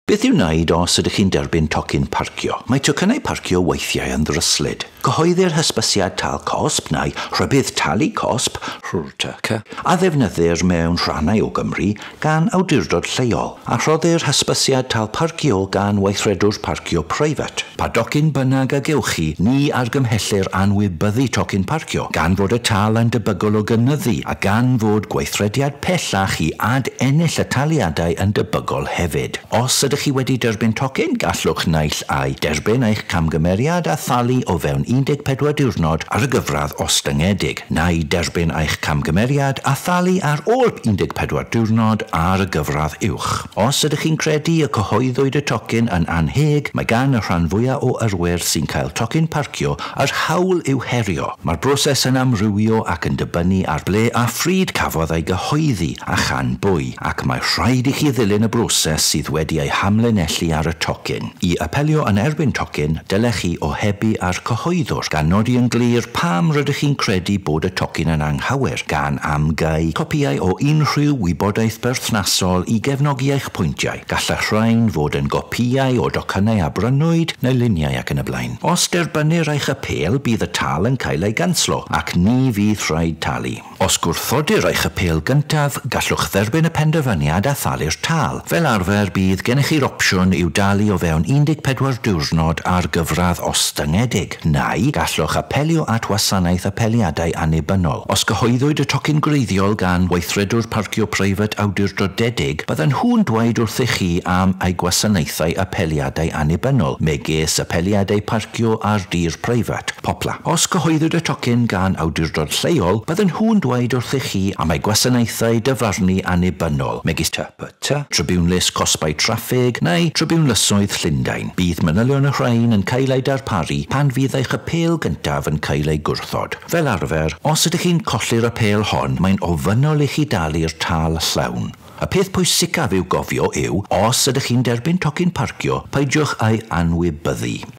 Beth i'w wneud os ydych chi'n derbyn tocyn parcio? Mae tocynnau parcio weithiau yn ddryslyd. Cyhoeddir hysbysiad tâl cosb neu rhybudd talu cosb, RTC, a ddefnyddir mewn rhannau o Gymru gan awdurdod lleol, a rhoddir hysbysiad tâl parcio gan weithredwr parcio preifat. Pa docyn bynnag a gewch chi, ni argymhellir anwybyddu tocyn parcio, gan fod y tâl yn debygol o gynyddu a gan fod gweithrediad pellach i ad-ennill y taliadau yn debygol hefyd. Os ydych chi wedi derbyn tocyn, gallwch naill ai derbyn eich camgymeriad a thalu o fewn 14 diwrnod ar y gyfradd ostyngedig, neu derbyn eich camgymeriad a thalu ar ôl 14 diwrnod ar y gyfradd uwch. Os ydych chi'n credu y cyhoeddwyd y tocyn yn annheg, mae gan y rhan fwyaf o yrwyr sy'n cael tocyn parcio yr hawl i'w herio. Mae'r broses yn amrywio ac yn dibynnu ar ble a phryd cafodd ei gyhoeddi a chan bwy, ac mae rhaid i chi ddilyn y broses sydd wedi ei hamlinellu ar y tocyn. I apelio yn erbyn tocyn, dylech chi ohebu â'r cyhoeddwr, gan nodi yn glir pam rydych chi'n credu bod y tocyn yn anghywir, gan amgau copïau o unrhyw wybodaeth berthnasol i gefnogi eich pwyntiau. Gall y rhain fod yn gopïau o docynnau a brynwyd neu luniau ac yn y blaen. Os derbynnir eich apêl, bydd y tâl yn cael ei ganslo, ac ni fydd rhaid talu. Os gwrthodir eich apêl gyntaf, gallwch dderbyn y penderfyniad a thalu'r tâl. Fel arfer, bydd gennych chi'r opsiwn i'w dalu o fewn 14 diwrnod ar gyfradd ostyngedig, neu gallwch apelio at wasanaeth apeliadau annibynnol. Os gyhoeddwyd y tocyn gwreiddiol gan weithredwr parcio preifat awdurdodedig, byddan nhw'n dweud wrthych chi am eu gwasanaethau apeliadau annibynnol, megis apeliadau parcio ar dir preifat, POPLA. Os cyhoeddwyd y tocyn gan awdurdod lleol, byddan nhw'n dweud wrthych chi am eu gwasanaethau dyfarnu annibynnol, megis TPT, Tribiwnlys Cosbau Traffig neu Tribiwnlysoedd Llundain. Bydd manylion y rhain yn cael eu darparu pan fydd eich apêl gyntaf yn cael ei gwrthod. Fel arfer, os ydych chi'n colli'r apêl hon, mae'n ofynnol i chi dalu'r tâl llawn. Y peth pwysicaf i'w gofio yw, os ydych chi'n derbyn tocyn parcio, peidiwch â'i anwybyddu.